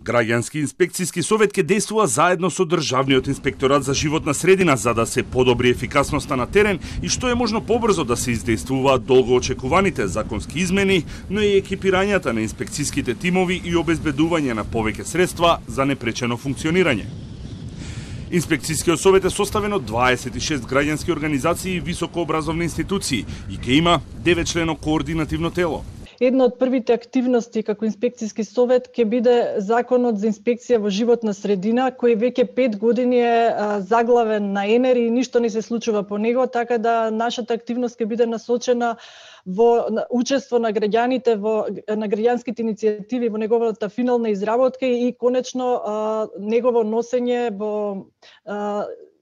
Граѓански инспекцијски совет ќе действува заедно со Државниот инспекторат за животна средина за да се подобри ефикасноста на терен и што е можно побрзо да се издействуваат долгоочекуваните законски измени, но и екипирањата на инспекцијските тимови и обезбедување на повеќе средства за непречено функционирање. Инспекцијскиот совет е составен од 26 граѓански организации и високообразовни институции и ќе има 9-члено координативно тело. Една од првите активности како инспекцијски совет ќе биде законот за инспекција во животна средина, кој веќе 5 години е заглавен на ЕНЕР и ништо не се случува по него, така да нашата активност ќе биде насочена во учество на граѓаните на граѓанските иницијативи во неговата финална изработка и конечно негово носење во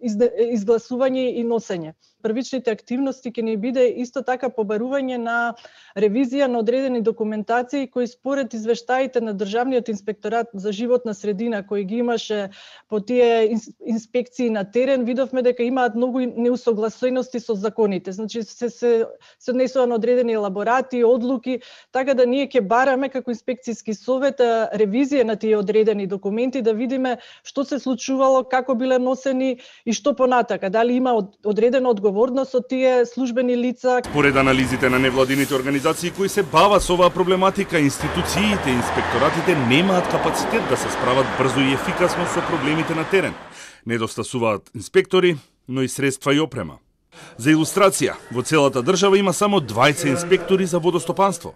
изгласување и носење. Првичните активности ќе ни биде исто така побарување на ревизија на одредени документации кои според извештаите на Државниот инспекторат за животна средина кои ги имаше по тие инспекции на терен, видовме дека имаат многу неусогласености со законите. Значи се однесува на одредени елаборати, одлуки, така да ние ќе бараме како инспекцијски совет ревизија на тие одредени документи да видиме што се случувало, како биле носени и што понатака, дали има одредена одговорност од тие службени лица. Според анализите на невладините организации кои се бават со оваа проблематика, институциите и инспекторатите немаат капацитет да се справат брзо и ефикасно со проблемите на терен. Недостасуваат инспектори, но и средства и опрема. За илустрација, во целата држава има само 20 инспектори за водостопанство.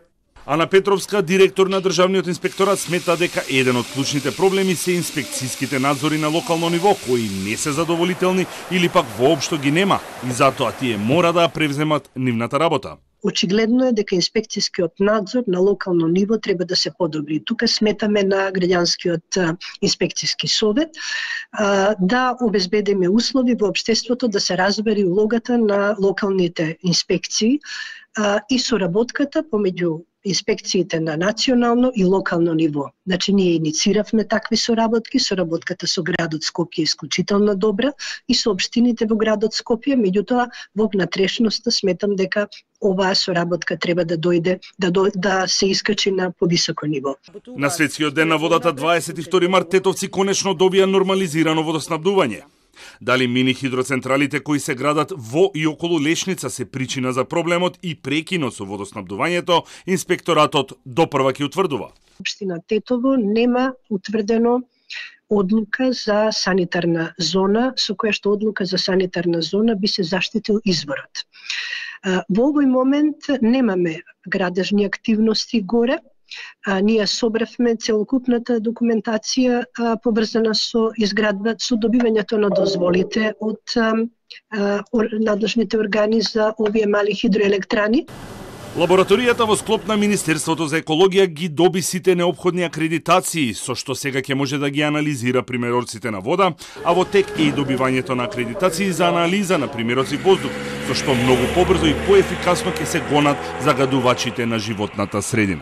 Ана Петровска, директор на Државниот инспекторат, смета дека еден од клучните проблеми се инспекцијските надзори на локално ниво, кои не се задоволителни или пак воопшто ги нема, и затоа тие мора да превземат нивната работа. Очигледно е дека инспекцијскиот надзор на локално ниво треба да се подобри. Тука сметаме на граѓанскиот инспекцијски совет да обезбедиме услови во општеството да се разбери улогата на локалните инспекции и соработката помеѓу инспекциите на национално и локално ниво. Значи, ние иницииравме такви соработки, соработката со градот Скопје е исклучително добра и со општините во градот Скопје, меѓутоа во внатрешноста сметам дека оваа соработка треба да дојде, да се искачи на повисоко ниво. На Светскиот ден на водата 22 март тетовци конечно добија нормализирано водоснабдување. Дали мини хидроцентралите кои се градат во и околу Лешница се причина за проблемот и прекинот со водоснабдувањето, инспекторатот допрва ќе утврдува. Општина Тетово нема утврдено одлука за санитарна зона, со која што одлука за санитарна зона би се заштитил изворот. Во овој момент немаме градежни активности горе. Ние собравме целокупната документација поврзана со со добивањето на дозволите од надлежните органи за овие мали хидроелектрани. Лабораторијата во склоп на Министерството за екологија ги доби сите неопходни акредитации, со што сега ќе може да ги анализира примерорците на вода, а во тек е и добивањето на акредитации за анализа на примероци воздух, со што многу побрзо и поефикасно ќе се гонат загадувачите на животната средина.